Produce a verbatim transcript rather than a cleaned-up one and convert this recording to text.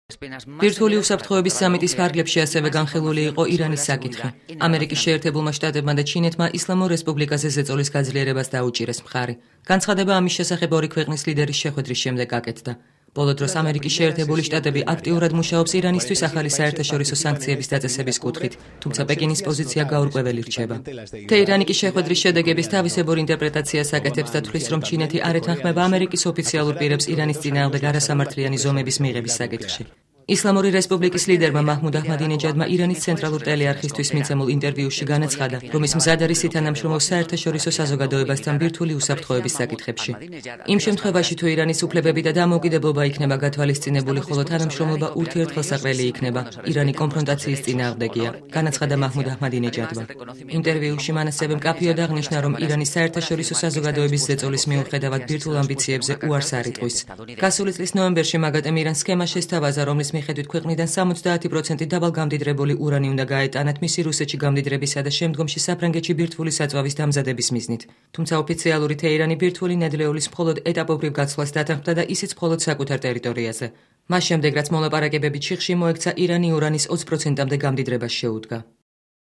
ბირთვული უსაფრთხოების სამიტის ფარგლებში ასევე განხილული იყო ირანის საკითხი. ამერიკის შეერთებულმა შტატებმა და ჩინეთმა ისლამურ რესპუბლიკაზე ზეწოლის გაძლიერებას დაუჭირეს მხარი. განცხადება ამის შესახებ ორი ქვეყნის ლიდერის შეხვედრის შემდეგ გაკეთდა. ბოლო დროს ამერიკის შეერთებული შტატები აქტიურად მუშაობს ირანისთვის ახალი საერთაშორისო სანქციების დაწესების კუთხით, თუმცა პეკინის პოზიცია გაურკვეველი რჩება. თეირანი კი შეხვედრის შედეგების თავისებურ ინტერპრეტაციას აკეთებს და თვლის, რომ ჩინეთი არ ეთანხმება ამერიკის ოფიციალურ პირებს ირანის წინააღმდეგ არასამართლიანი ზომების მიღების საკითხში. ისლამური რესპუბლიკის ლიდერმა მაჰმუდ აჰმადინეჯადმა ირანის ცენტრალურ ტელეარხისთვის მიცემულ ინტერვიუში განაცხადა, რომ ის მზად არის ითანამშრომლოს საერთაშორისო საზოგადოებასთან ბირთვული უსაფრთხოების საკითხებში. იმ შემთხვევაში, თუ ირანის უფლებები და დამოუკიდებლობა იქნება გათვალისწინებული, ხოლო თანამშრომლობა ურთიერთგელსაყრელი იქნება, ირანი კონფრონტაციის წინააღმდეგია, განაცხადა მაჰმუდ აჰმადინეჯადმა. ინტერვიუში მან ასევე მკაფიოდ აღნიშნა, რომ ირანის საერთაშორისო საზოგადოების ზეწოლის მიუხედავად ბირთვულ ამბიციებზე უარს არ იტყვის. გასული წლის ნოემბერში მაგატემ ირანს სქემა შესთავაზა, რომლის მიხედვით ქვეყნიდან სამოცდაათი პროცენტი დაბალგამდიდრებული ურანი უნდა გაეტანათ მისი რუსეთში გამდიდრებისა და შემდგომში საფრანგეთში ბირთვული საწვავის დამზადების მიზნით. თუმცა ოფიციალური თეირანი ბირთვული ნედლეულის მხოლოდ ეტაპობრივ გაცვლას დათანხმდა და ისიც მხოლოდ საკუთარ ტერიტორიაზე. მას შემდეგ, რაც მოლაპარაკებები ჩიხში მოექცა, ირანი ურანის ოცი პროცენტამდე გამდიდრებას შეუდგა.